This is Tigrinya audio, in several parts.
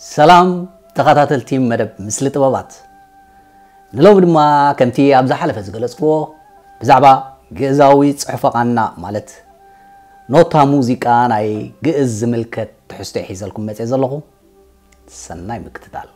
ሰላም ተኸታተልቲ መደብ ምስሊ ጥበባት። ንሎሚ ድማ ከምቲ ኣብ ዝሓለፈ ዝገለጽክዎ ብዛዕባ ግእዛዊ ጽሑፈ ቃና ማለት ኖታ ሙዚቃ ናይ ግእዝ ዝምልከት ትሕዝቶ ሒዘልኩም መጽየ ዘለኹ። ሰናይ ምክትታል።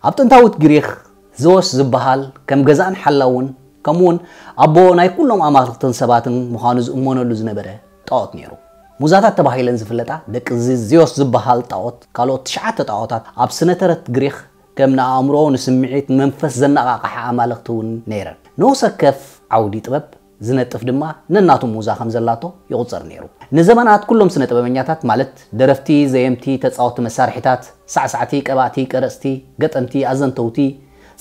ኣብ ጥንታዊት ግሪኽ ዞስ ዝበሃል ከም ገዛእን ሓላውን ከምኡውን ኣቦ ናይ ኩሎም ኣማልኽትን ሰባትን ምዃኑ ዝእመነሉ ዝነበረ ጣዖት ነይሩ። ሙዛታት ተባሂለን ዝፍለጣ ደቂ እዚ ዚዮስ ዝበሃል ጣዖት ካልኦት ትሽዓተ ጣዖታት ኣብ ስነ ተረት ግሪኽ ከም ንኣእምሮ፣ ንስምዒት፣ ንመንፈስ ዘነቓቕሓ ኣማልኽቲ እውን ነይረን። ንወሰከፍ ዓውዲ ጥበብ ዝነጥፍ ድማ ነናቱ ሙዛ ከም ዘላቶ ይቑጸር ነይሩ። ንዘመናት ኩሎም ስነ ጥበበኛታት ማለት ደረፍቲ፣ ዘየምቲ፣ ተጻወቲ መሳርሒታት፣ ሳዕሳዕቲ፣ ቀባእቲ፣ ቀረጽቲ፣ ገጠምቲ፣ ኣዘንተውቲ፣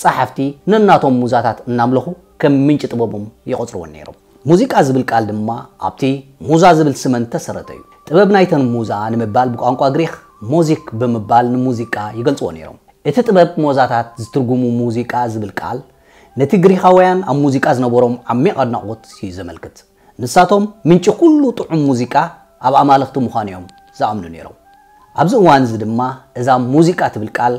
ጸሓፍቲ ነናቶም ሙዛታት እናምለኹ ከም ምንጪ ጥበቦም ይቖጽርወን ነይሮም። ሙዚቃ ዝብል ቃል ድማ ኣብቲ ሙዛ ዝብል ስመን ተሰረተ እዩ። ጥበብ ናይተን ሙዛ ንምባል ብቋንቋ ግሪኽ ሞዚክ ብምባል ንሙዚቃ ይገልጽዎ ነይሮም። እቲ ጥበብ ሞዛታት ዝትርጉሙ ሙዚቃ ዝብል ቃል ነቲ ግሪኻውያን ኣብ ሙዚቃ ዝነበሮም ዓሚቕ ኣድናቖት እዩ ዘመልክት። ንሳቶም ምንጪ ኩሉ ጥዑም ሙዚቃ ኣብ ኣማልኽቲ ምዃኑ እዮም ዝኣምኑ ነይሮም። ኣብዚ እዋን እዚ ድማ እዛ ሙዚቃ ትብል ቃል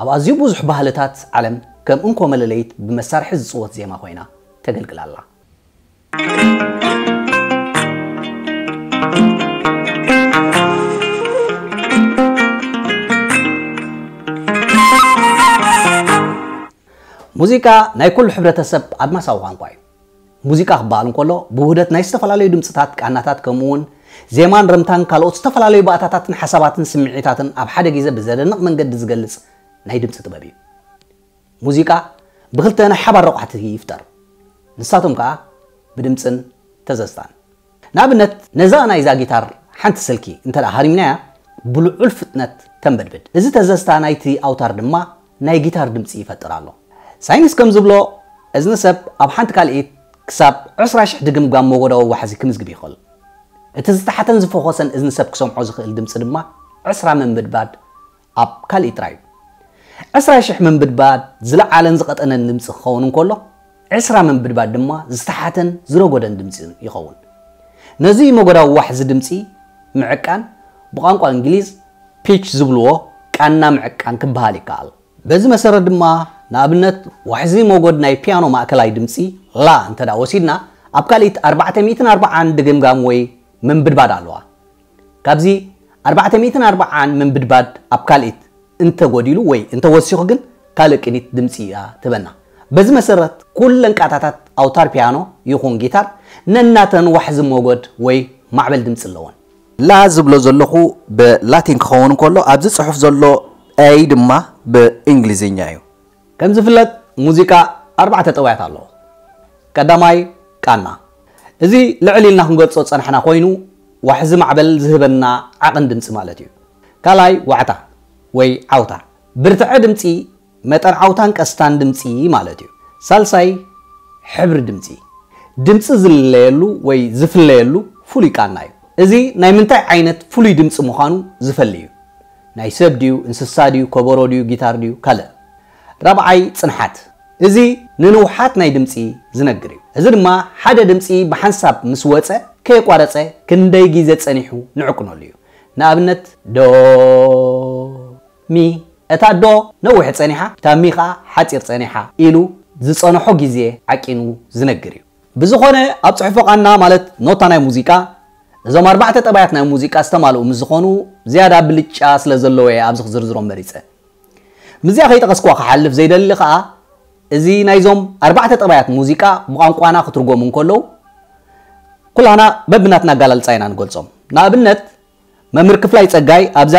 ኣብ ኣዝዩ ብዙሕ ባህልታት ዓለም ከም እንኮ መለለይት ብመሳርሒ ዝጽወት ዜማ ኮይና ተገልግል ኣላ። ሙዚቃ ናይ ኩሉ ሕብረተሰብ ኣድማሳዊ ቋንቋ እዩ። ሙዚቃ ክበሃል እንከሎ ብውህደት ናይ ዝተፈላለዩ ድምፅታት፣ ቃናታት፣ ከምኡ እውን ዜማን ረምታን ካልኦት ዝተፈላለዩ ባእታታትን ሓሳባትን ስምዒታትን ኣብ ሓደ ግዜ ብዘደንቕ መንገዲ ዝገልፅ ናይ ድምፂ ጥበብ እዩ። ሙዚቃ ብክልተ ናይ ሓባር ረቋሕቲ ይፍጠር። ንሳቶም ከዓ ብድምፅን ተዘዝታን። ንኣብነት ነዛ ናይዛ ጊታር ሓንቲ ስልኪ እንተ ደኣ ሃሪምናያ ብልዑል ፍጥነት ተንበድብድ። እዚ ተዘዝታ ናይቲ ኣውታር ድማ ናይ ጊታር ድምፂ ይፈጥር ኣሎ። ሳይንስ ከም ዝብሎ እዝኒ ሰብ ኣብ ሓንቲ ካልኢት ክሳብ ዕስራ ሽሕ ድግምጋም ሞጎዳዊ ዋሕዚ ክምዝግብ ይኽእል። እቲ ዝተሓተን ዝፈኾሰን እዝኒ ሰብ ክሰምዖ ዝኽእል ድምፂ ድማ ዕስራ ምንብድባድ ኣብ ካልእ ጥራይ እዩ። ዕስራ ሽሕ ምንብድባድ ዝለዓለን ዝቐጠነን ድምፂ ክኸውን እንከሎ ዕስራ ምንብድባድ ድማ ዝተሓተን ዝረጎደን ድምፂ ይኸውን። ነዚ መጎዳዊ ዋሕዚ ድምፂ ምዕቃን ብቋንቋ እንግሊዝ ፒች ዝብልዎ ቃና ምዕቃን ክበሃል ይከኣል። በዚ መሰረት ድማ ንኣብነት ዋሕዚ ሞጎድ ናይ ፒያኖ ማእከላይ ድምፂ ላ እንተ ደኣ ወሲድና ኣብ ካልኢት ኣርባዕተ ሚእትን ኣርባዓን ድግምጋም ወይ ምንብድባድ ኣለዋ። ካብዚ ኣርባዕተ ሚእትን ኣርባዓን ምንብድባድ ኣብ ካልኢት እንተጎዲሉ ወይ እንተወሲኹ ግን ካልእ ቅኒት ድምፂ እያ ትህበና። በዚ መሰረት ኩለን ቃታታት ኣውታር ፒያኖ ይኹን ጊታር ነናተን ዋሕዚ ሞጎድ ወይ ማዕበል ድምፂ ኣለወን። ላ ዝብሎ ዘለኹ ብላቲን ክኸውን እንከሎ ኣብዚ ፅሑፍ ዘሎ ኤይ ድማ ብእንግሊዝኛ እዩ። ከም ዝፍለጥ ሙዚቃ ኣርባዕተ ጠባያት ኣለዎ። ቀዳማይ ቃና። እዚ ልዕል ኢልና ክንገልጾ ዝጸናሕና ኮይኑ ዋሕዚ ማዕበል ዝህበና ዓቕን ድምጺ ማለት እዩ። ካልኣይ ዋዕታ ወይ ዓውታ። ብርትዐ ድምጺ መጠን ዓውታን ቀስታን ድምጺ ማለት እዩ። ሳልሳይ ሕብሪ ድምጺ። ድምጺ ዝልለየሉ ወይ ዝፍለየሉ ፍሉይ ቃና እዩ። እዚ ናይ ምንታይ ዓይነት ፍሉይ ድምጺ ምዃኑ ዝፈሊ እዩ። ናይ ሰብ ድዩ፣ እንስሳ ድዩ፣ ከበሮ ድዩ፣ ጊታር ድዩ፣ ካልእ። ራብዓይ ጽንሓት። እዚ ንንውሓት ናይ ድምጺ ዝነግር እዩ። እዚ ድማ ሓደ ድምጺ ብሓንሳብ ምስ ወጸ ከየቋረጸ ክንደይ ግዜ ጸኒሑ ንዕቅነሉ እዩ። ንኣብነት ዶ ሚ፣ እታ ዶ ነዊሕ ጸኒሓ፣ እታ ሚ ኸኣ ሓጺር ጸኒሓ ኢሉ ዝጸንሖ ግዜ ዓቂኑ ዝነግር እዩ። ብዝኾነ ኣብ ጽሑፈ ቃና ማለት ኖታ ናይ ሙዚቃ እዞም ኣርባዕተ ጠባያት ናይ ሙዚቃ ዝተማልኡ ምስ ዝኾኑ ዝያዳ ብልጫ ስለ ዘለዎ እየ ኣብዚ ክዝርዝሮም መሪጸ። ምስዚኣ ከይጠቐስኩዋ ክሓልፍ ዘይደሊ ኸኣ እዚ ናይዞም ኣርባዕተ ጠባያት ሙዚቃ ብቋንቋና ክትርጎሙ እንከለዉ፣ ኩላና በብናትና ኣገላልጻ ኢና ንገልጾም። ንኣብነት፣ መምህር ክፍላይ ጸጋይ ኣብዛ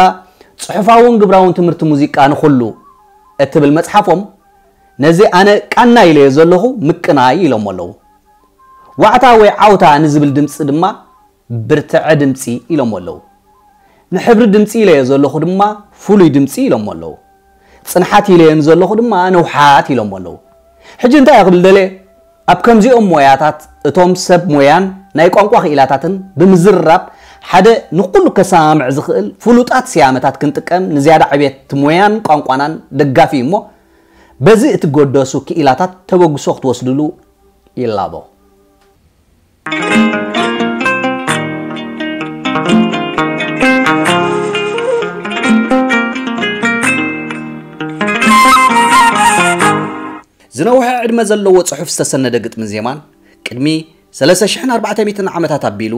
ጽሑፋውን ግብራውን ትምህርቲ ሙዚቃ ንኹሉ እትብል መጽሓፎም፣ ነዚ ኣነ ቃና ኢለዮ ዘለኹ ምቅናይ ኢሎሞ ኣለዉ። ዋዕታ ወይ ዓውታ ንዝብል ድምጺ ድማ ብርትዐ ድምጺ ኢሎሞ ኣለዉ። ንሕብሪ ድምጺ ኢለዮ ዘለኹ ድማ ፍሉይ ድምጺ ኢሎሞ ኣለዉ። ጽንሓት ኢለዮ ንዘለኹ ድማ ንውሓት ኢሎሞ ኣለዉ። ሕጂ እንታይ እየ ክብል ደልየ? ኣብ ከምዚኦም ሞያታት እቶም ሰብ ሞያን ናይ ቋንቋ ክኢላታትን ብምዝርራብ ሓደ ንኹሉ ከሰማምዕ ዝኽእል ፍሉጣት ስያመታት ክንጥቀም ንዝያዳ ዕቤት ሞያን ቋንቋናን ደጋፊ እዩ እሞ በዚ እትገደሱ ክኢላታት ተበግሶ ክትወስድሉ ይላቦ። ዝነውሐ ዕድመ ዘለዎ ጽሑፍ ዝተሰነደ ግጥምን ዜማን ቅድሚ ሰለስተ ሽሕን ኣርባዕተ ሚእትን ዓመታት ኣቢሉ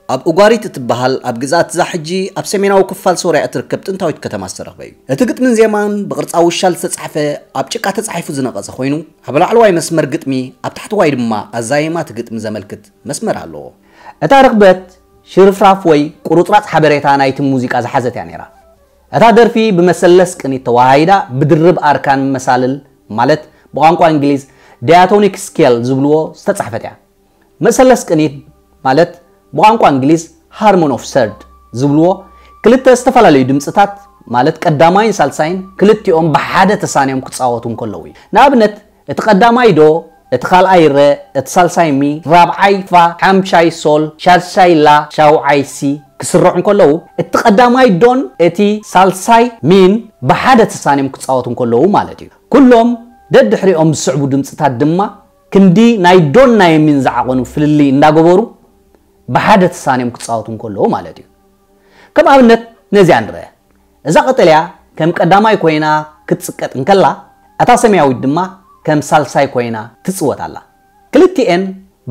ኣብ ኡጋሪት እትበሃል ኣብ ግዝኣት እዛ ሕጂ ኣብ ሰሜናዊ ክፋል ሶርያ እትርከብ ጥንታዊት ከተማ ዝተረኽበ እዩ። እቲ ግጥምን ዜማን ብቕርጻ ውሻል ዝተጻሕፈ ኣብ ጭቃ ተጻሒፉ ዝነቐጸ ኮይኑ ኣብ ላዕለዋይ መስመር ግጥሚ ኣብ ታሕተዋይ ድማ ኣዛይማ እቲ ግጥሚ ዘመልክት መስመር ኣለዎ። እታ ርኽበት ሽርፍራፍ ወይ ቁርጽራጽ ሓበሬታ ናይቲ ሙዚቃ ዝሓዘት እያ ነይራ። እታ ደርፊ ብመሰለስ ቅኒት ተወሃሂዳ ብድርብ ኣርካን መሳልል ማለት ብቋንቋ እንግሊዝ ዳያቶኒክ ስኬል ዝብልዎ ዝተጻሕፈት እያ። መሰለስ ቅኒት ማለት ብቋንቋ እንግሊዝ ሃርሞን ኦፍ ሰርድ ዝብልዎ ክልተ ዝተፈላለዩ ድምፅታት ማለት ቀዳማይን ሳልሳይን ክልቲኦም ብሓደ ተሳንዮም ክፃወቱ እንከለዉ እዩ። ንኣብነት እቲ ቀዳማይ ዶ፣ እቲ ካልኣይ ረ፣ እቲ ሳልሳይ ሚ፣ ራብዓይ ፋ፣ ሓምሻይ ሶል፣ ሻድሻይ ላ፣ ሻውዓይ ሲ ክስርዑ እንከለዉ እቲ ቀዳማይ ዶን እቲ ሳልሳይ ሚን ብሓደ ተሳንዮም ክፃወቱ እንከለዉ ማለት እዩ። ኩሎም ደድሕሪኦም ዝስዕቡ ድምፅታት ድማ ክንዲ ናይ ዶን ናይ ሚን ዝዓቐኑ ፍልልይ እንዳገበሩ ብሓደ ተሳንዮም ክፃወቱ እንከለዉ ማለት እዩ። ከም ኣብነት ነዚኣ ንርአ። እዛ ቀጠልያ ከም ቀዳማይ ኮይና ክትጽቀጥ እንከላ፣ እታ ሰማያዊት ድማ ከም ሳልሳይ ኮይና ትጽወት ኣላ። ክልቲኤን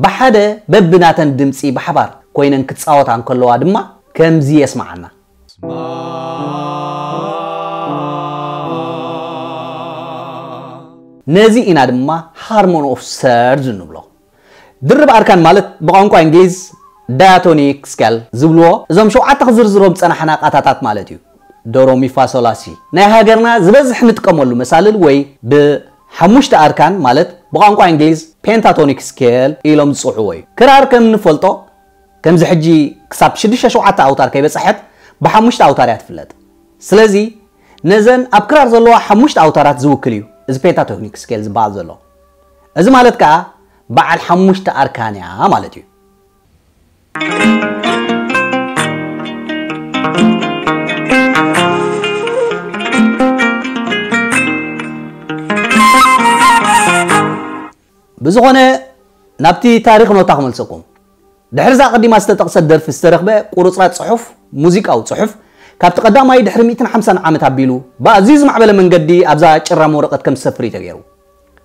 ብሓደ በብናተን ድምጺ ብሓባር ኮይነን ክጻወታ እንከለዋ ድማ ከምዚ የስምዓና። ነዚ ኢና ድማ ሃርሞን ኦፍ ሰርድ እንብሎ። ድርብ ኣርካን ማለት ብቋንቋ እንግሊዝ ዳያቶኒክ ስኬል ዝብልዎ እዞም ሸውዓተ ክዝርዝሮም ዝጸናሕና ቃታታት ማለት እዩ። ዶሮሚፋሶላሲ ናይ ሃገርና ዝበዝሕ ንጥቀመሉ መሳልል ወይ ብሓሙሽተ ኣርካን ማለት ብቋንቋ እንግሊዝ ፔንታቶኒክ ስኬል ኢሎም ዝጽውዕዎ እዩ። ክራር ከም እንፈልጦ ከምዚ ሕጂ ክሳብ ሽዱሽተ ሸውዓተ ኣውታር ከይበጻሐት ብሓሙሽተ ኣውታር እያ ትፍለጥ። ስለዚ ነዘን ኣብ ክራር ዘለዋ ሓሙሽተ ኣውታራት ዝውክል እዩ እዚ ፔንታቶኒክ ስኬል ዝበሃል ዘሎ። እዚ ማለት ከኣ በዓል ሓሙሽተ ኣርካን እያ ማለት እዩ። ብዝኾነ ናብቲ ታሪኽ ኖታ ክመልሰኩም። ድሕሪ እዛ ቀዲማ ዝተጠቕሰት ደርፊ ዝተረኽበ ቁርጽራጽ ጽሑፍ፣ ሙዚቃዊ ጽሑፍ፣ ካብቲ ቀዳማይ ድሕሪ ሚእትን ሓምሳን ዓመት ኣቢሉ ብኣዝዩ ዝማዕበለ መንገዲ ኣብዛ ጭራም ወረቐት ከም ዝሰፍር እዩ ተገይሩ።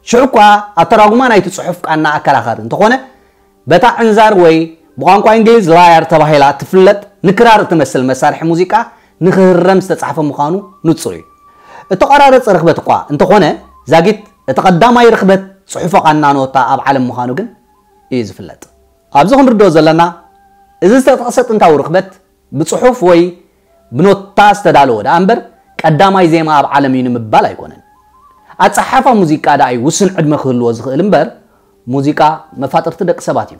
ሽዑ እኳ ኣተራጉማ ናይቲ ጽሑፍ ቃና ኣከራኻሪ እንተኾነ፣ በታ ዕንዛር ወይ ብቋንቋ እንግሊዝ ላያር ተባሂላ እትፍለጥ ንክራር እትመስል መሳርሒ ሙዚቃ ንክህረም ዝተጻሕፈ ምዃኑ ንጹር እዩ። እተቋራረጸ ርኽበት እኳ እንተኾነ፣ ዛጊት እቲ ቀዳማይ ርኽበት ጽሑፈ ቃና ኖታ ኣብ ዓለም ምዃኑ ግን እዩ ዝፍለጥ። ኣብዚ ክንርድኦ ዘለና፣ እዚ ዝተጠቕሰ ጥንታዊ ርኽበት ብጽሑፍ ወይ ብኖታ ዝተዳለወ ደኣ እምበር፣ ቀዳማይ ዜማ ኣብ ዓለም እዩ ንምባል ኣይኮነን። ኣጸሓሕፋ ሙዚቃ ደኣ እዩ ውሱን ዕድመ ክህልዎ ዝኽእል እምበር፣ ሙዚቃ መፋጥርቲ ደቂ ሰባት እዩ።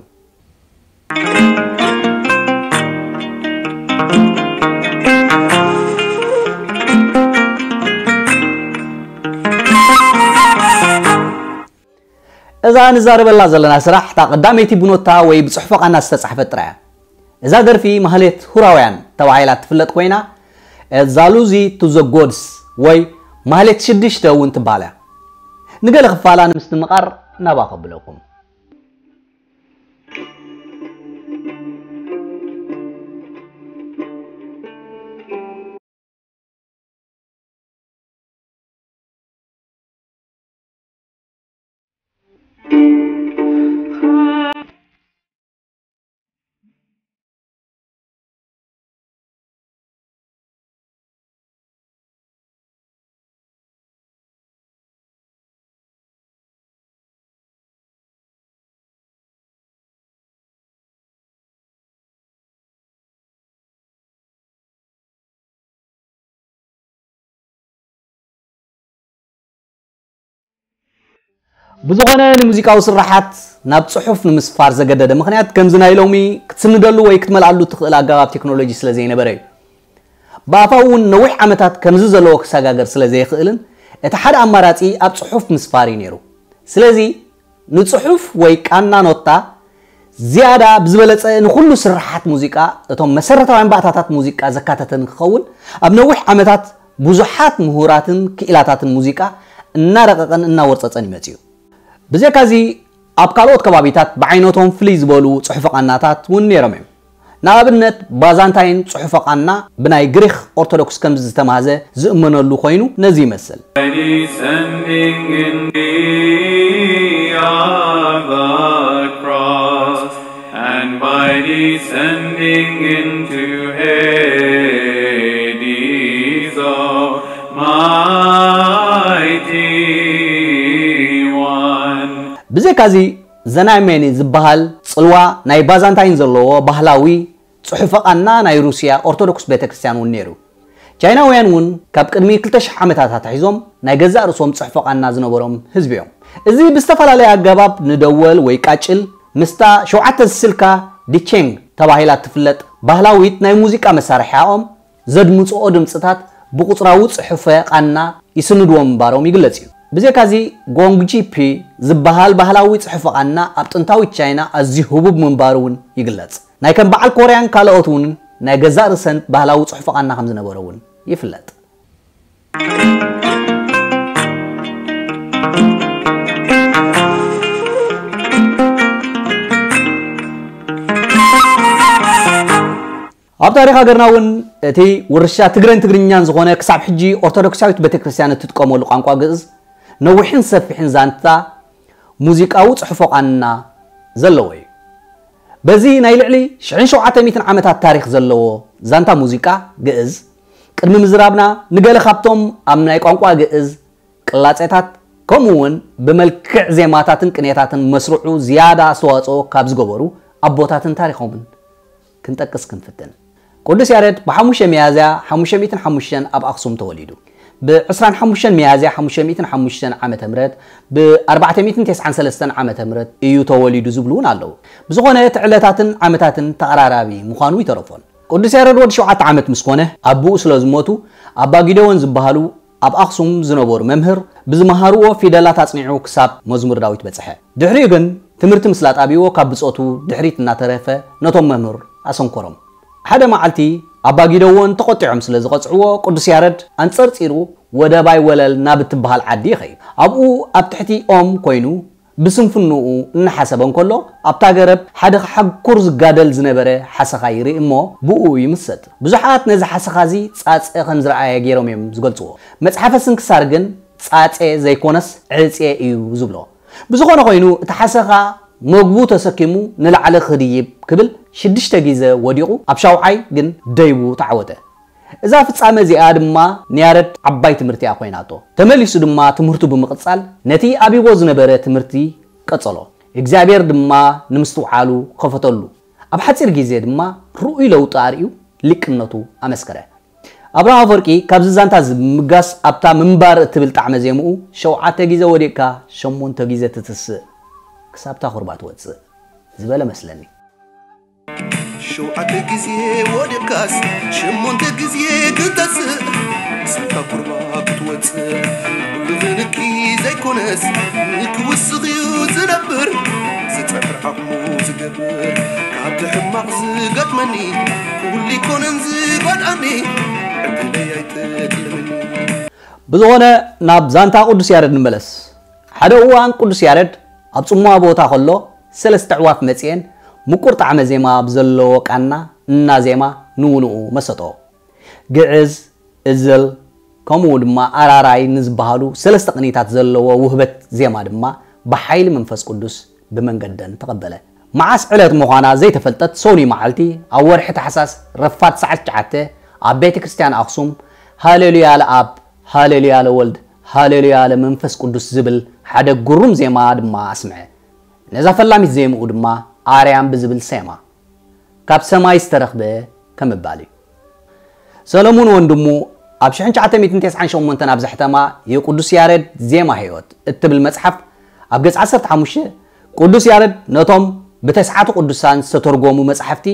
እዛ ንዛረበላ ዘለና ስራሕ እታ ቀዳመይቲ ብኖታ ወይ ብጽሑፈ ቃና ዝተጻሕፈት ጥራይ እያ። እዛ ደርፊ ማህሌት ሁራውያን ተባሂላ እትፍለጥ ኮይና፣ ዛሉዚ ቱ ዘ ጎድስ ወይ ማህሌት ሽዱሽተ እውን ትበሃል እያ። ንገለ ክፋላ ንምስትምቓር ናባ ከብለኩም። ብዝኾነ ንሙዚቃዊ ስርሓት ናብ ጽሑፍ ንምስፋር ዘገደደ ምኽንያት ከምዚ ናይ ሎሚ ክትስንደሉ ወይ ክትመልኣሉ ትኽእል ኣገባብ ቴክኖሎጂ ስለ ዘይነበረ እዩ። ብኣፋ እውን ነዊሕ ዓመታት ከምዚ ዘለዎ ክሰጋገር ስለ ዘይኽእልን እቲ ሓደ ኣማራጺ ኣብ ጽሑፍ ምስፋር እዩ ነይሩ። ስለዚ ንጽሑፍ ወይ ቃና ኖታ ዝያዳ ብዝበለጸ ንኹሉ ስርሓት ሙዚቃ እቶም መሰረታውያን ባእታታት ሙዚቃ ዘካተተ ንክኸውን ኣብ ነዊሕ ዓመታት ብዙሓት ምሁራትን ክኢላታትን ሙዚቃ እናረቐቐን እናወርጸጸን ይመጽእ እዩ። ብዘካዚ ኣብ ካልኦት ከባቢታት ብዓይነቶም ፍልይ ዝበሉ ጽሑፈ ቃናታት እውን ነይሮም እዮም። ንኣብነት ባዛንታይን ጽሑፈ ቃና ብናይ ግሪኽ ኦርቶዶክስ ከም ዝተማህዘ ዝእመነሉ ኮይኑ ነዚ ይመስል። Descending in the of the cross, and by descending into Hades, Almighty One. ብዘካዚ ዘናይሜኒ ዝበሃል ጽልዋ ናይ ባዛንታይን ዘለዎ ባህላዊ ጽሑፈ ቃና ናይ ሩስያ ኦርቶዶክስ ቤተክርስትያን እውን ነይሩ። ቻይናውያን እውን ካብ ቅድሚ ክልተ ሽሕ ዓመታት ኣትሒዞም ናይ ገዛእ ርእሶም ጽሑፈ ቃና ዝነበሮም ህዝቢ እዮም። እዚ ብዝተፈላለየ ኣገባብ ንደወል ወይ ቃጭል ምስታ ሸውዓተ ዝስልካ ዲቼንግ ተባሂላ እትፍለጥ ባህላዊት ናይ ሙዚቃ መሳርሒኣኦም ዘድምፅኦ ድምፅታት ብቁፅራዊ ፅሑፈ ቃና ይስንድዎ ምንባሮም ይግለፅ እዩ። ብዘካዚ ጎንግጂፒ ዝበሃል ባህላዊ ፅሑፈ ቃና ኣብ ጥንታዊት ቻይና ኣዝዩ ህቡብ ምንባሩ እውን ይግለፅ። ናይ ከም በዓል ኮርያን ካልኦት እውን ናይ ገዛእ ርእሰን ባህላዊ ጽሑፍ ቃና ከም ዝነበረ እውን ይፍለጥ። ኣብ ታሪኽ ሃገርና እውን እቲ ውርሻ ትግረን ትግርኛን ዝኾነ ክሳብ ሕጂ ኦርቶዶክሳዊት ቤተክርስትያን እትጥቀመሉ ቋንቋ ግእዝ ነዊሕን ሰፊሕን ዛንታ ሙዚቃዊ ጽሑፎ ቃና ዘለዎ እዩ። በዚ ናይ ልዕሊ ሽሕን ሸውዓተ ሚእትን ዓመታት ታሪኽ ዘለዎ ዛንታ ሙዚቃ ግእዝ ቅድሚ ምዝራብና ንገለ ካብቶም ኣብ ናይ ቋንቋ ግእዝ ቅላጼታት ከምኡ እውን ብመልክዕ ዜማታትን ቅኔታትን መስርዑ ዝያዳ ኣስተዋጽኦ ካብ ዝገበሩ ኣቦታትን ታሪኾምን ክንጠቅስ ክንፍትን። ቅዱስ ያሬድ ብ5 ሚያዝያ ሓሙሽተ ሚእትን ሓሙሽተን ኣብ ኣኽሱም ተወሊዱ። ብ25 ሚያዝያ ሓሙሽተ ሚእትን ሓሙሽተን ዓመተ ምህረት፣ ብ493 ዓመተ ምህረት እዩ ተወሊዱ ዝብሉ እውን ኣለዉ። ብዝኾነ እቲ ዕለታትን ዓመታትን ተቐራራቢ ምዃኑ ይተረፎን። ቅዱስ ያሬድ ወዲ ሸውዓተ ዓመት ምስ ኮነ ኣቦኡ ስለ ዝሞቱ ኣባ ጊደዎን ዝበሃሉ ኣብ ኣኽሱም ዝነበሩ መምህር ብዝመሃርዎ ፊደላት ኣጽኒዑ ክሳብ መዝሙር ዳዊት በጽሐ። ድሕሪኡ ግን ትምህርቲ ምስላ ጣቢዎ ካብ ብጾቱ ድሕሪት እናተረፈ ነቶም መምህር ኣሰንኮሮም። ሓደ መዓልቲ ኣባ ጊደዎን ተቖጢዖም ስለ ዝቐጽዕዎ ቅዱስ ያረድ ኣንጸርጺሩ ወደ ባይ ወለል ናብ እትበሃል ዓዲ ይኸይድ። ኣብኡ ኣብ ትሕቲ ኦም ኮይኑ ብስንፍንኡ እናሓሰበ እንከሎ ኣብታ ገረብ ሓደ ክሓኩር ዝጋደል ዝነበረ ሓሰኻ ይርኢ እሞ ብኡ ይምሰጥ። ብዙሓት ነዚ ሓሰኻ እዚ ጻጸ ከም ዝረኣየ ገይሮም እዮም ዝገልጽዎ። መጽሓፈ ስንክሳር ግን ጻጼ ዘይኮነስ ዕጼ እዩ ዝብሎ። ብዝኾነ ኮይኑ እቲ ሓሰኻ መግቡ ተሰኪሙ ንላዕሊ ክድይብ ክብል ሽዱሽተ ግዜ ወዲቑ ኣብ ሻውዓይ ግን ደይቡ ተዓወተ። እዛ ፍጻመ እዚኣ ድማ ንያረድ ዓባይ ትምህርቲ እያ ኮይናቶ። ተመሊሱ ድማ ትምህርቱ ብምቕጻል ነቲ ኣቢቦ ዝነበረ ትምህርቲ ቀጸሎ። እግዚኣብሔር ድማ ንምስትውዓሉ ከፈተሉ። ኣብ ሓጺር ግዜ ድማ ርኡይ ለውጢ ኣርእዩ ሊቅነቱ ኣመስከረ። ኣብርሃ ኣፈወርቂ ካብዚ ዛንታ እዚ ብምብጋስ ኣብታ ምንባር እትብል ጣዕመ ዜምኡ ሸውዓተ ግዜ ወዲቕካ ሸሞንተ ግዜ ትትስእ ክሳብታ ቁርባ ትወጽእ ዝበለ መስለኒ። ሸውዓተ ግዜ ወዲቕካስ ሸሞንተ ግዜ ክትተስእ ክሳብታ ቁርባ ክትወጽእ ብልኽንኪ ዘይኮነስ ንክውስኽ እዩ ዝነብር ዝጸዕር ዓቕሙ ዝገብር ካብቲ ሕማቕ ዝገጥመኒ ኩሉ ይኮነን ዝጎድኣኒ ዕድለይ ኣይጥልምኒ ብዝኾነ ናብ ዛንታ ቅዱስ ያረድ ንመለስ። ሓደ እዋን ቅዱስ ያረድ ኣብ ጽምዋ ቦታ ከሎ ሰለስተ ኣዕዋፍ መጺኤን ምቁር ጣዕመ ዜማ ብዘለዎ ቃና እናዜማ ንውንኡ መሰጠኦ። ግዕዝ፣ እዝል፣ ከምኡ ድማ ኣራራይ ንዝበሃሉ ሰለስተ ቅኒታት ዘለዎ ውህበት ዜማ ድማ ብሓይሊ መንፈስ ቅዱስ ብመንገደን ተቐበለ። መዓስ ዕለት ምዃና ዘይተፈልጠት ሰኑይ መዓልቲ ኣብ ወርሒ ታሕሳስ ረፋድ ሰዓት ትሽዓተ ኣብ ቤተ ክርስቲያን ኣኽሱም ሃሌሉያ ለኣብ፣ ሃሌሉያ ለወልድ፣ ሃሌሉያ ለመንፈስ ቅዱስ ዝብል ሓደ ግሩም ዜማ ድማ ኣስምዐ። ነዛ ፈላሚት ዜምኡ ድማ ኣርያም ብዝብል ሰየማ። ካብ ሰማይ ዝተረኽበ ከምባል እዩ። ሰለሙን ወንድሙ ኣብ ሽሕን ትሽዓተ ሚእትን ተስዓን ሸሞንተን ኣብ ዘሕተማ የቅዱስ ያሬድ ዜማ ሕይወት እትብል መጽሓፍ ኣብ ገጽ ዓሰርተ ሓሙሽተ ቅዱስ ያረድ ነቶም ብተስዓቱ ቅዱሳን ዝተተርጎሙ መጻሕፍቲ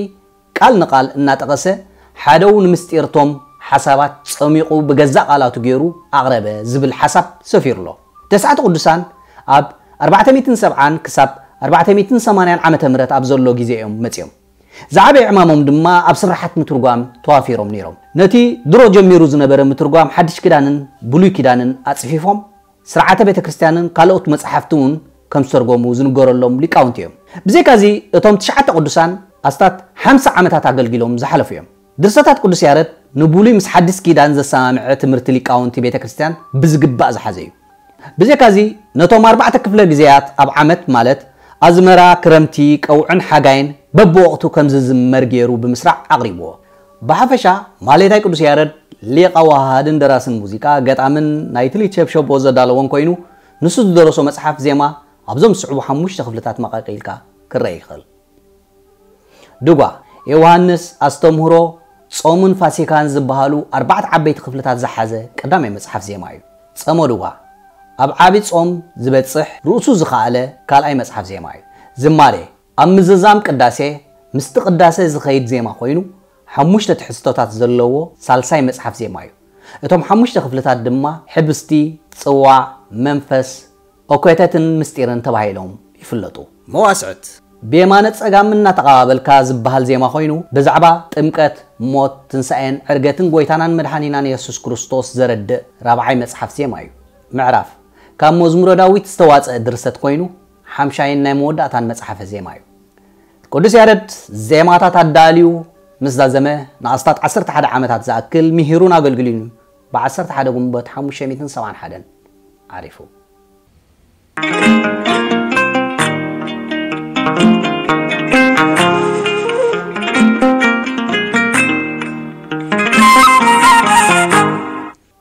ቃል ንቃል እናጠቐሰ ሓደው ንምስጢርቶም ሓሳባት ጸሚቑ ብገዛእ ቃላቱ ገይሩ ኣቕረበ ዝብል ሓሳብ ሰፊሩ ኣሎ። ተስዓቱ ቅዱሳን ኣብ ኣርባዕተ ሚእትን ሰብዓን ክሳብ ኣርባዕተ ሚእትን ሰማንያን ዓመተ ምህረት ኣብ ዘሎ ግዜ እዮም መጺኦም። ዝዓበየ ዕማሞም ድማ ኣብ ስራሓት ምትርጓም ተዋፊሮም ነይሮም። ነቲ ድሮ ጀሚሩ ዝነበረ ምትርጓም ሓድሽ ኪዳንን ብሉይ ኪዳንን ኣጽፊፎም ስርዓተ ቤተ ክርስቲያንን ካልኦት መጻሕፍቲ እውን ከም ዝተርጎሙ ዝንገረሎም ሊቃውንቲ እዮም። ብዘይካዚ እቶም ትሽዓተ ቅዱሳን ኣስታት ሓምሳ ዓመታት ኣገልጊሎም ዝሓለፉ እዮም። ድርሰታት ቅዱስ ያረድ ንብሉይ ምስ ሓድሽ ኪዳን ዘሰማምዐ ትምህርቲ ሊቃውንቲ ቤተ ክርስቲያን ብዝግባእ ዝሓዘ እዩ። ብዘይካዚ ነቶም ኣርባዕተ ክፍለ ግዜያት ኣብ ዓመት ማለት ኣዝመራ፣ ክረምቲ፣ ቀውዕን ሓጋይን በብወቕቱ ከም ዝዝመር ገይሩ ብምስራዕ ኣቕሪብዎ። ብሓፈሻ ማሌታይ ቅዱስ ያረድ ሊቐ ዋሃድን ደራስን ሙዚቃ፣ ገጣምን ናይቲ ሊት ሸብሸቦ ዘዳለዎን ኮይኑ ንሱ ዝደረሶ መጽሓፍ ዜማ ኣብዞም ዝስዕቡ ሓሙሽተ ክፍልታት መቐቂልካ ክረአ ይኽእል። ድጓ፣ ዮሃንስ፣ ኣስተምህሮ፣ ጾምን ፋሲካን ዝበሃሉ ኣርባዕተ ዓበይቲ ክፍልታት ዝሓዘ ቀዳማይ መጽሓፍ ዜማ እዩ። ጸሞ ድጓ፣ ኣብ ዓቢ ጾም ዝበጽሕ ርእሱ ዝኸኣለ ካልኣይ መጽሓፍ ዜማ እዩ። ዝማሬ፣ ኣብ ምዝዛም ቅዳሴ ምስቲ ቅዳሴ ዝኸይድ ዜማ ኮይኑ ሓሙሽተ ትሕዝቶታት ዘለዎ ሳልሳይ መጽሓፍ ዜማ እዩ። እቶም ሓሙሽተ ክፍልታት ድማ ሕብስቲ፣ ጽዋዕ፣ መንፈስ፣ ኦኮተትን ምስጢርን ተባሂሎም ይፍለጡ። መዋስዕት፣ ብየማነ ጸጋም እናተቐባበልካ ዝበሃል ዜማ ኮይኑ ብዛዕባ ጥምቀት፣ ሞት፣ ትንሳኤን ዕርገትን ጎይታናን መድሓኒናን የሱስ ክርስቶስ ዘረድእ ራብዓይ መጽሓፍ ዜማ እዩ። ምዕራፍ፣ ካብ መዝሙረ ዳዊት ዝተዋጸአ ድርሰት ኮይኑ ሓምሻይን ናይ መወዳእታን መጽሓፈ ዜማ እዩ። ቅዱስ ያረድ ዜማታት ኣዳልዩ ምስ ዛዘመ ንኣስታት ዓሰርተ ሓደ ዓመታት ዝኣክል ምሂሩን ኣገልግሉን እዩ። ብ ዓሰርተ ሓደ ግንቦት ሓሙሽተ ሚእትን ሰብዓን ሓደን ዓሪፉ።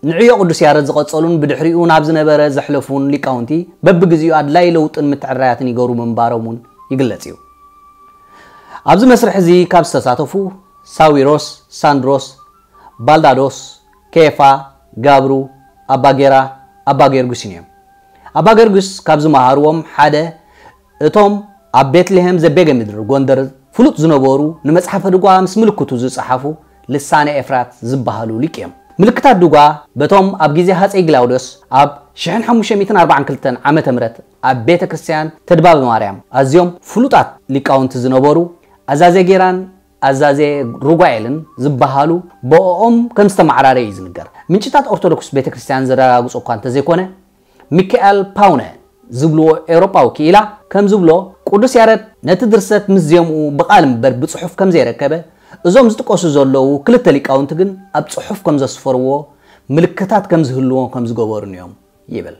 ንዕዮ ቅዱስ ያረድ ዝቐጸሉን ብድሕሪኡ ናብ ዝነበረ ዘሕለፉን ሊቃውንቲ በብግዜኡ ኣድላይ ለውጥን ምትዕርራያትን ይገብሩ ምንባሮም እውን ይግለጽ እዩ። ኣብዚ መስርሕ እዚ ካብ ዝተሳተፉ ሳዊሮስ፣ ሳንድሮስ፣ ባልዳዶስ፣ ኬፋ፣ ጋብሩ፣ ኣባ ጌራ፣ ኣባ ጊዮርጊስን እዮም። ኣባ ጊዮርጊስ ካብ ዝመሃርዎም ሓደ እቶም ኣብ ቤትልሄም ዘቤገ ምድሪ ጎንደር ፍሉጥ ዝነበሩ ንመጽሓፈ ድጓ ምስ ምልክቱ ዝጸሓፉ ልሳነ ኤፍራት ዝበሃሉ ሊቅ እዮም። ምልክታት ድጓ በቶም ኣብ ግዜ ሃጸይ ግላውድዮስ ኣብ ሽሕን ሓሙሽተ ሚእትን ኣርባዓን ክልተን ዓመተ ምህረት ኣብ ቤተ ክርስቲያን ተድባበ ማርያም ኣዝዮም ፍሉጣት ሊቃውንቲ ዝነበሩ ኣዛዜ ጌራን ኣዛዜ ሩጓኤልን ዝበሃሉ ብኦም ከም ዝተመዓራረ እዩ ዝንገር። ምንጭታት ኦርቶዶክስ ቤተ ክርስቲያን ዘረጋግጾ እኳ እንተዘይኮነ፣ ሚካኤል ፓውነ ዝብልዎ ኤውሮጳዊ ክኢላ ከም ዝብሎ፣ ቅዱስ ያረድ ነቲ ድርሰት ምስ ዜምኡ ብቓል እምበር ብጽሑፍ ከም ዘይረከበ፣ እዞም ዝጥቀሱ ዘለዉ ክልተ ሊቃውንቲ ግን ኣብ ጽሑፍ ከም ዘስፈርዎ ምልክታት ከም ዝህልዎ ከም ዝገበሩን እዮም ይብል።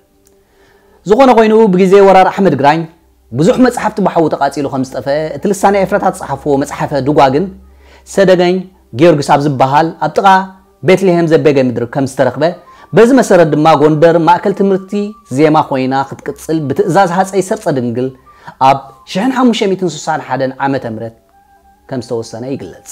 ዝኾነ ኮይኑ፣ ብግዜ ወራር ኣሕመድ ግራኝ ብዙሕ መጽሓፍቲ ብሓዊ ተቓጺሉ ከም ዝጠፍአ፣ እቲ ልሳነ ኤፍረታት ዝጸሓፍዎ መጽሓፈ ድጓ ግን ሰደገኝ ጊዮርጊስ ኣብ ዝበሃል ኣብ ጥቓ ቤትልሄም ዘቤገ ምድሪ ከም ዝተረኽበ፣ በዚ መሰረት ድማ ጎንደር ማእከል ትምህርቲ ዜማ ኮይና ክትቅጽል ብትእዛዝ ሃጸይ ሰርጸ ድንግል ኣብ ሽሕን ሓሙሽተ ሚእትን ስሳን ሓደን ዓመተ ምህረት ከም ዝተወሰነ ይግለጽ።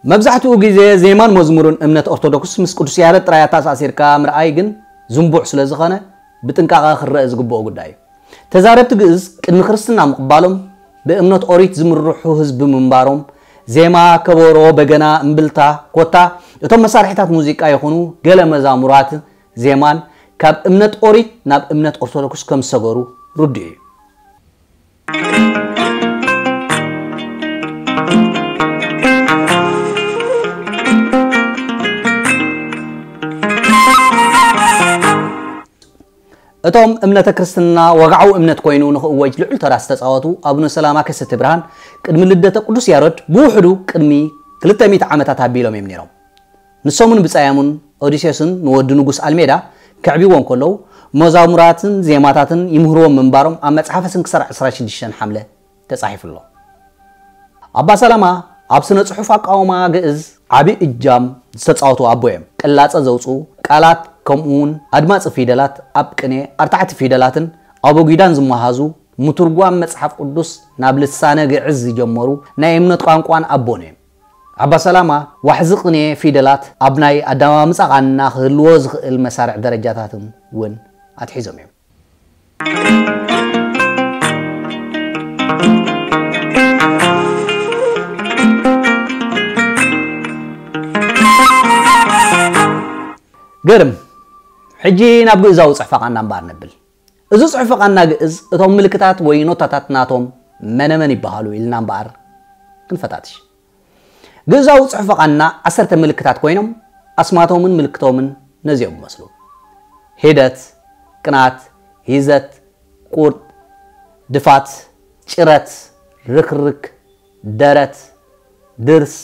መብዛሕትኡ ግዜ ዜማን መዝሙርን እምነት ኦርቶዶክስ ምስ ቅዱስ ያሬድ ጥራይ ኣተኣሳሲርካ ምርኣይ ግን ዝንቡዕ ስለ ዝኾነ ብጥንቃቐ ክረአ ዝግብኦ ጉዳይ እዩ። ተዛረብቲ ግእዝ ቅድሚ ክርስትና ምቕባሎም ብእምነት ኦሪት ዝምርሑ ህዝቢ ምንባሮም ዜማ፣ ከበሮ፣ በገና፣ እምብልታ፣ ኮታ እቶም መሳርሒታት ሙዚቃ ይኹኑ ገለ መዛሙራት ዜማን ካብ እምነት ኦሪት ናብ እምነት ኦርቶዶክስ ከም ዝሰገሩ ርዱእ እዩ። እቶም እምነተ ክርስትና ወግዓዊ እምነት ኮይኑ ንኽእወጅ ልዑል ተራ ዝተጻወቱ ኣቡነ ሰላማ ከሰተ ብርሃን ቅድሚ ልደተ ቅዱስ ያሬድ ብውሕዱ ቅድሚ ክልተ ሚእቲ ዓመታት ኣቢሎም እዮም ነይሮም። ንሶምን ብጻዮምን ኦዲሴስን ንወዲ ንጉስ ኣልሜዳ ከዕብይዎ እንከለዉ መዛሙራትን ዜማታትን ይምህርዎም ምንባሮም ኣብ መጽሓፈ ስንክሳር ዕስራን ሽዱሽተን ሓምለ ተጻሒፉ ኣሎ። ኣባ ሰላማ ኣብ ስነ ጽሑፍ ኣቃውማ ግእዝ ዓቢ እጃም ዝተጻወቱ ኣቦ እዮም። ቅላጸ ዘውጽኡ ቃላት ከምኡውን ኣድማጺ ፊደላት ኣብ ቅኔ ኣርታዕቲ ፊደላትን ኣቦጊዳን ዝመሃዙ ምትርጓም መጽሓፍ ቅዱስ ናብ ልሳነ ግዕዝ ዝጀመሩ ናይ እምነት ቋንቋን ኣቦን እዮም። ኣባ ሰላማ ዋሕዚ ቅኔ ፊደላት ኣብ ናይ ኣዳማምጻ ቃና ክህልዎ ዝኽእል መሳርዕ ደረጃታትን እውን ኣትሒዞም እዮም። ገርም። ሕጂ ናብ ግእዛዊ ጽሑፈ ቃና እምበኣር ነብል። እዚ ጽሑፈ ቃና ግእዝ እቶም ምልክታት ወይ ኖታታት ናቶም መነመን ይበሃሉ ኢልና እምበኣር ክንፈታትሽ። ግእዛዊ ጽሑፈ ቃና ዓሰርተ ምልክታት ኮይኖም ኣስማቶምን ምልክቶምን ነዚኦም ይመስሉ። ሂደት፣ ቅናት፣ ሂዘት፣ ቁርጥ፣ ድፋት፣ ጭረት፣ ርክርክ፣ ደረት፣ ድርስ፣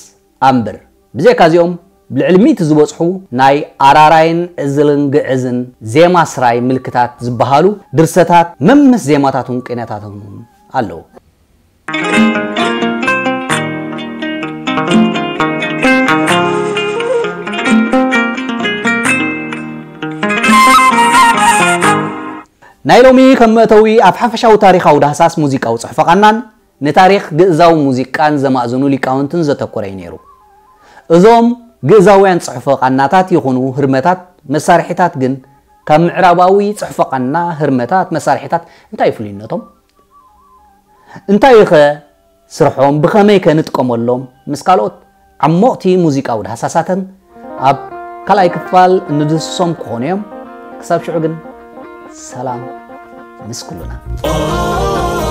ኣምብር። ብዘይካ እዚኦም ልዕሊ ሚእቲ ዝበጽሑ ናይ ኣራራይን ዕዝልን ግዕዝን ዜማ ስራይ ምልክታት ዝበሃሉ ድርሰታት መምስ ዜማታቱን ቅኔታቱን ኣለዉ። ናይ ሎሚ ከም መእተዊ ኣብ ሓፈሻዊ ታሪኻዊ ዳህሳስ ሙዚቃዊ ጽሑፈ ቃናን ንታሪኽ ግእዛዊ ሙዚቃን ዘማእዝኑ ሊቃውንትን ዘተኮረ እዩ ነይሩ። እዞም ግእዛውያን ጽሑፈ ቃናታት ይኹኑ ህርመታት መሳርሒታት ግን ካብ ምዕራባዊ ጽሑፈ ቃና ህርመታት መሳርሒታት እንታይ ፍሉይነቶም? እንታይ ኸ ስርሖም ብኸመይ ከ ንጥቀመሎም? ምስ ካልኦት ዓሞቕቲ ሙዚቃዊ ዳህሳሳትን ኣብ ካልኣይ ክፋል እንድህስሶም ክኾኑ እዮም። ክሳብ ሽዑ ግን ሰላም ምስ ኩሉና።